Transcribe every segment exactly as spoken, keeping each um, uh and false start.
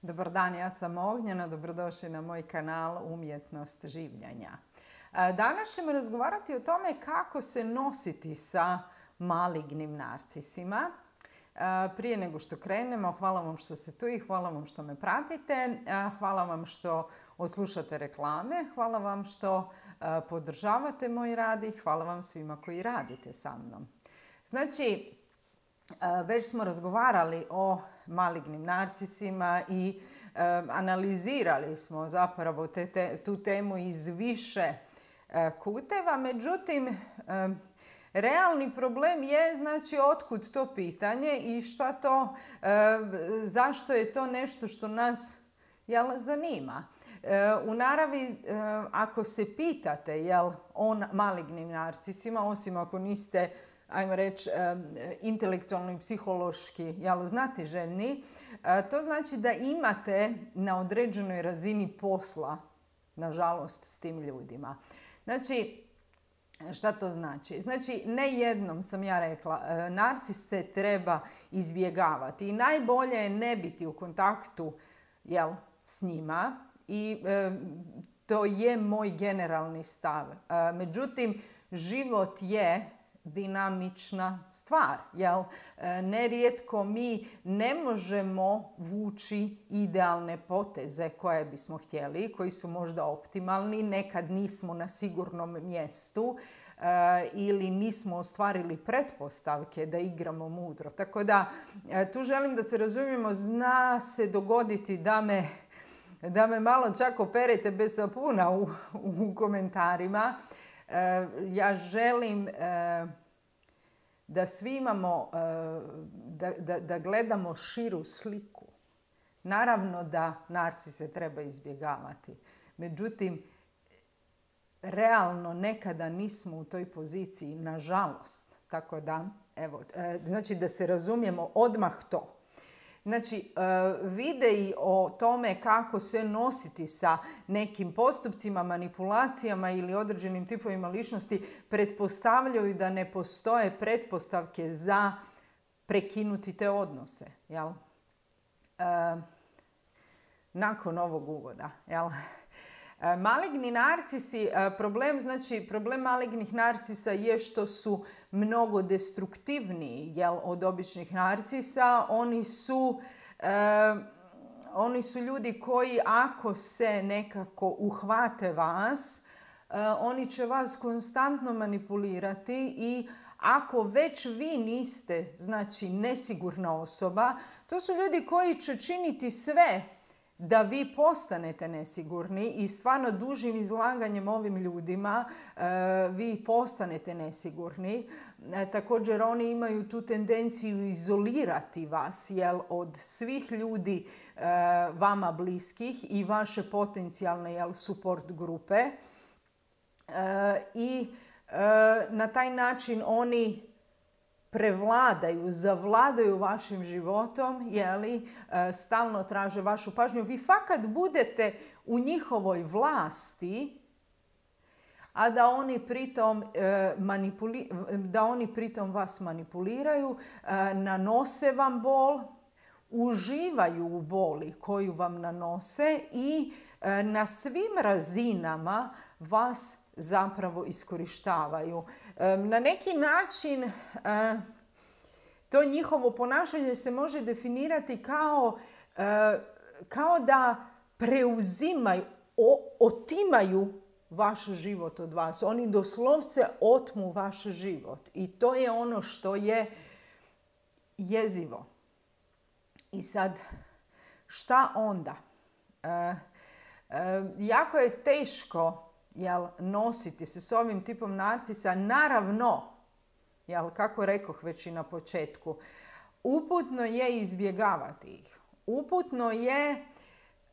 Dobar dan, ja sam Ognjena, dobrodošli na moj kanal Umjetnost življenja. Danas ćemo razgovarati o tome kako se nositi sa malignim narcisima. Prije nego što krenemo, hvala vam što ste tu i hvala vam što me pratite. Hvala vam što oslušate reklame, hvala vam što podržavate moj rad i hvala vam svima koji radite sa mnom. Znači, već smo razgovarali o malignim narcisima i e, analizirali smo zapravo te, te, tu temu iz više e, kuteva. Međutim, e, realni problem je, znači, otkud to pitanje i šta to, e, zašto je to nešto što nas jel, zanima. E, u naravi, e, ako se pitate jel, o malignim narcisima, osim ako niste, ajmo reći, intelektualno i psihološki jel, znatiželjni, to znači da imate na određenoj razini posla, nažalost, s tim ljudima. Znači, šta to znači? Znači, ne jednom sam ja rekla, narcis se treba izbjegavati i najbolje je ne biti u kontaktu jel, s njima i e, to je moj generalni stav. E, međutim, život je dinamična stvar, jel? Nerijetko mi ne možemo vući idealne poteze koje bismo htjeli, koji su možda optimalni, nekad nismo na sigurnom mjestu e, ili nismo ostvarili pretpostavke da igramo mudro. Tako da, e, tu želim da se razumijemo, zna se dogoditi da me, da me malo čak operete bez sapuna u, u komentarima. Ja želim da svi imamo, da, da, da gledamo širu sliku. Naravno da narcise treba izbjegavati. Međutim, realno nekada nismo u toj poziciji, nažalost. Tako da, evo, znači da se razumijemo odmah to. Znači, videi o tome kako se nositi sa nekim postupcima, manipulacijama ili određenim tipovima ličnosti pretpostavljaju da ne postoje pretpostavke za prekinuti te odnose. Jel? E, nakon ovog uvoda. Jel? Maligni narcisi, problem, znači, problem malignih narcisa je što su mnogo destruktivniji jel, od običnih narcisa. Oni su, eh, oni su ljudi koji ako se nekako uhvate vas, eh, oni će vas konstantno manipulirati i ako već vi niste, znači, nesigurna osoba, to su ljudi koji će činiti sve da vi postanete nesigurni i stvarno dužim izlaganjem ovim ljudima e, vi postanete nesigurni. E, također oni imaju tu tendenciju izolirati vas jel, od svih ljudi e, vama bliskih i vaše potencijalne jel, support grupe. E, I e, na taj način oni prevladaju, zavladaju vašim životom, jeli, stalno traže vašu pažnju. Vi fakat budete u njihovoj vlasti, a da oni pritom, manipuli, da oni pritom vas manipuliraju, nanose vam bol, uživaju u boli koju vam nanose i na svim razinama vas zapravo iskorištavaju. Na neki način to njihovo ponašanje se može definirati kao, kao da preuzimaju, otimaju vaš život od vas. Oni doslovce otmu vaš život i to je ono što je jezivo. I sad, šta onda? Jako je teško jel, nositi se s ovim tipom narcisa. Naravno, jel, kako rekoh već i na početku, uputno je izbjegavati ih. Uputno je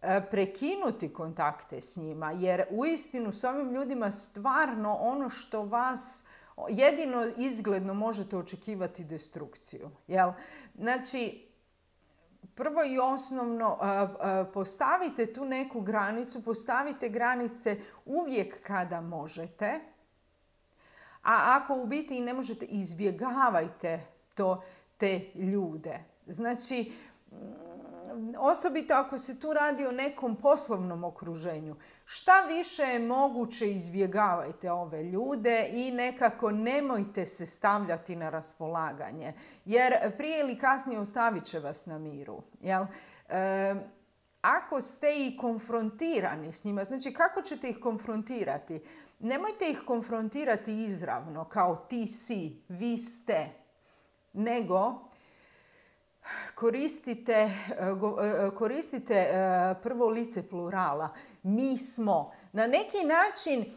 e, prekinuti kontakte s njima, jer uistinu s ovim ljudima stvarno ono što vas jedino izgledno možete očekivati destrukciju. Jel? Znači, prvo i osnovno, postavite tu neku granicu, postavite granice uvijek kada možete, a ako u biti ne možete, izbjegavajte to, te ljude. Znači, osobito ako se tu radi o nekom poslovnom okruženju, šta više je moguće izbjegavajte ove ljude i nekako nemojte se stavljati na raspolaganje. Jer prije ili kasnije ostavit će vas na miru. Jel? E, ako ste i konfrontirani s njima, znači kako ćete ih konfrontirati? Nemojte ih konfrontirati izravno, kao ti si, vi ste, nego koristite, koristite prvo lice plurala. Mi smo. Na neki način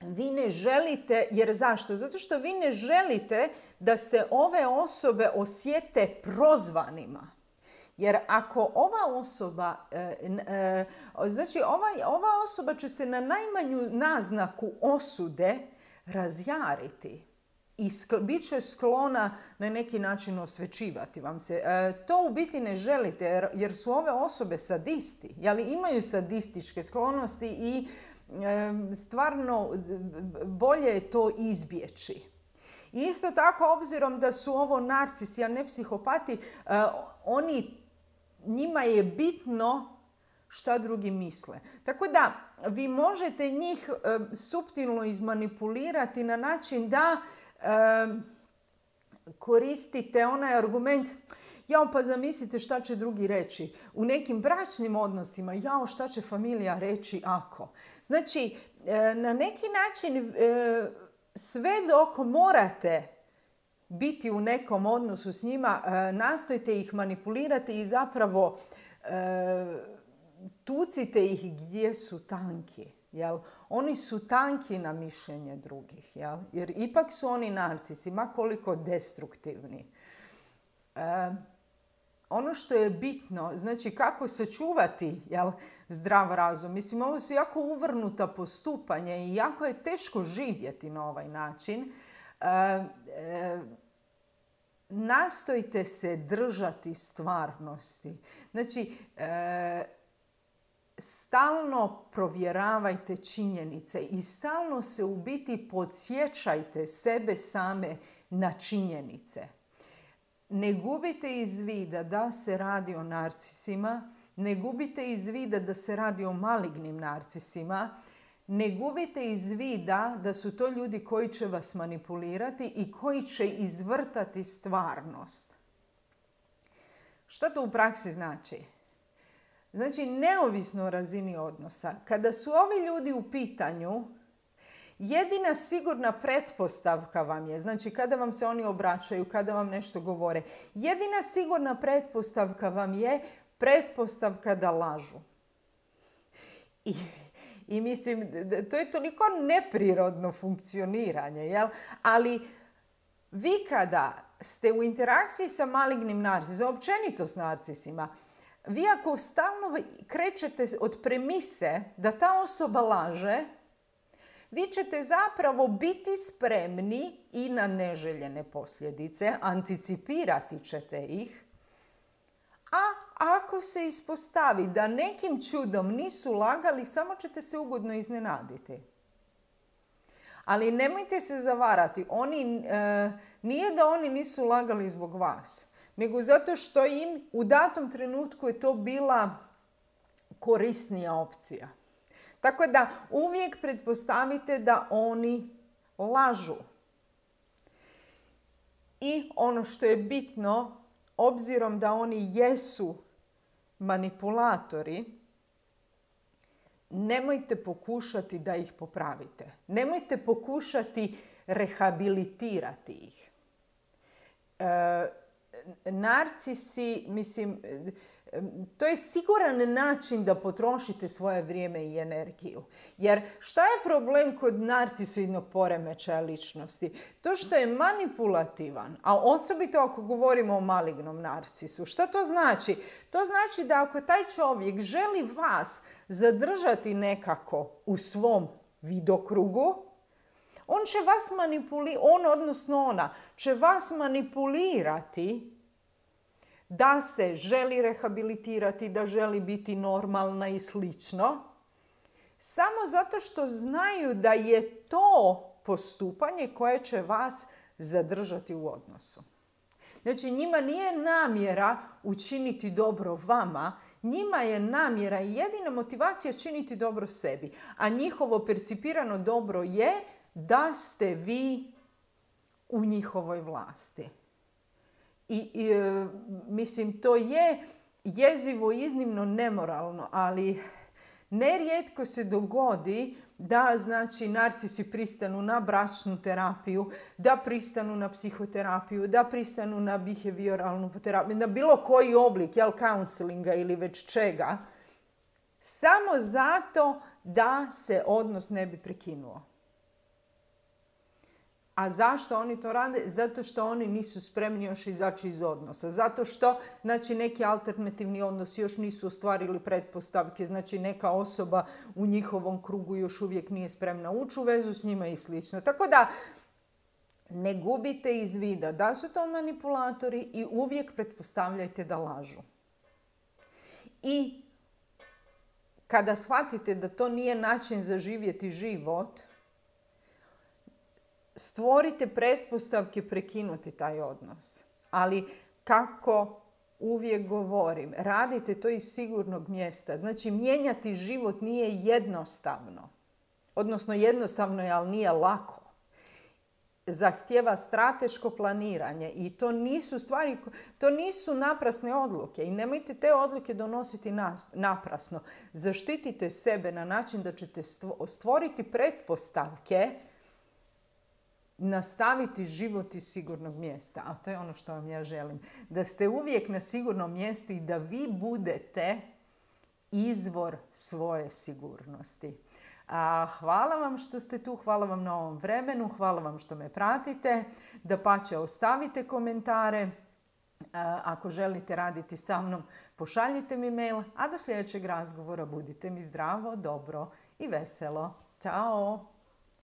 vi ne želite, jer zašto? Zato što vi ne želite da se ove osobe osjete prozvanima. Jer ako ova osoba, znači ova, ova osoba će se na najmanju naznaku osude razjariti i bit će sklona na neki način osvećivati vam se. To u biti ne želite jer su ove osobe sadisti, jeli imaju sadističke sklonosti i stvarno bolje je to izbjeći. Isto tako, obzirom da su ovo narcisi, a ne psihopati, oni, njima je bitno šta drugi misle. Tako da vi možete njih suptilno izmanipulirati na način da koristite onaj argument jao pa zamislite šta će drugi reći. U nekim bračnim odnosima jao šta će familija reći ako. Znači, na neki način sve dok morate biti u nekom odnosu s njima, nastojite ih manipulirati i zapravo tucite ih gdje su tanki. Jel? Oni su tanki na mišljenje drugih. Jel? Jer ipak su oni narcisi, ma koliko destruktivni. E, ono što je bitno, znači kako sačuvati jel, zdrav razum. Mislim, ovo su jako uvrnuta postupanja i jako je teško živjeti na ovaj način. E, e, nastojte se držati stvarnosti. Znači, e, stalno provjeravajte činjenice i stalno se u biti podsjećajte sebe same na činjenice. Ne gubite iz vida da se radi o narcisima, ne gubite iz vida da se radi o malignim narcisima, ne gubite iz vida da su to ljudi koji će vas manipulirati i koji će izvrtati stvarnost. Što to u praksi znači? Znači, neovisno o razini odnosa, kada su ovi ljudi u pitanju, jedina sigurna pretpostavka vam je, znači kada vam se oni obraćaju, kada vam nešto govore, jedina sigurna pretpostavka vam je pretpostavka da lažu. I, i mislim, to je toliko neprirodno funkcioniranje, jel? Ali vi kada ste u interakciji sa malignim narcisom, općenito s narcisima, vi ako stalno krećete od premise da ta osoba laže, vi ćete zapravo biti spremni i na neželjene posljedice, anticipirati ćete ih. A ako se ispostavi da nekim čudom nisu lagali, samo ćete se ugodno iznenaditi. Ali nemojte se zavarati, oni, e, nije da oni nisu lagali zbog vas, nego zato što im u datom trenutku je to bila korisnija opcija. Tako da uvijek pretpostavite da oni lažu. I ono što je bitno, obzirom da oni jesu manipulatori, nemojte pokušati da ih popravite. Nemojte pokušati rehabilitirati ih. E, narcisi, mislim, to je siguran način da potrošite svoje vrijeme i energiju. Jer šta je problem kod narcisoidnog poremećaja ličnosti? To što je manipulativan, a osobito ako govorimo o malignom narcisu. Šta to znači? To znači da ako taj čovjek želi vas zadržati nekako u svom vidokrugu, on će vas manipulirati, on odnosno ona, će vas manipulirati da se želi rehabilitirati, da želi biti normalna i slično, samo zato što znaju da je to postupanje koje će vas zadržati u odnosu. Znači njima nije namjera učiniti dobro vama, njima je namjera i jedina motivacija činiti dobro sebi. A njihovo percipirano dobro je da ste vi u njihovoj vlasti. I, i e, mislim, to je jezivo i iznimno nemoralno, ali nerijetko se dogodi da, znači, narcisi pristanu na bračnu terapiju, da pristanu na psihoterapiju, da pristanu na behavioralnu terapiju, na bilo koji oblik, jel, counselinga ili već čega, samo zato da se odnos ne bi prekinuo. A zašto oni to rade? Zato što oni nisu spremni još izaći iz odnosa. Zato što, znači, neki alternativni odnosi još nisu ostvarili pretpostavke. Znači, neka osoba u njihovom krugu još uvijek nije spremna ući u vezu s njima i slično. Tako da, ne gubite iz vida da su to manipulatori i uvijek pretpostavljajte da lažu. I kada shvatite da to nije način za živjeti život, stvorite pretpostavke prekinuti taj odnos. Ali kako uvijek govorim, radite to iz sigurnog mjesta. Znači, mijenjati život nije jednostavno. Odnosno, jednostavno je, ali nije lako. Zahtijeva strateško planiranje i to nisu stvari, to nisu naprasne odluke i nemojte te odluke donositi naprasno. Zaštitite sebe na način da ćete stvoriti pretpostavke, nastaviti život iz sigurnog mjesta. A to je ono što vam ja želim. Da ste uvijek na sigurnom mjestu i da vi budete izvor svoje sigurnosti. A, hvala vam što ste tu, hvala vam na ovom vremenu, hvala vam što me pratite. Dapače, ostavite komentare. A, ako želite raditi sa mnom, pošaljite mi mail. A do sljedećeg razgovora budite mi zdravo, dobro i veselo. Ćao!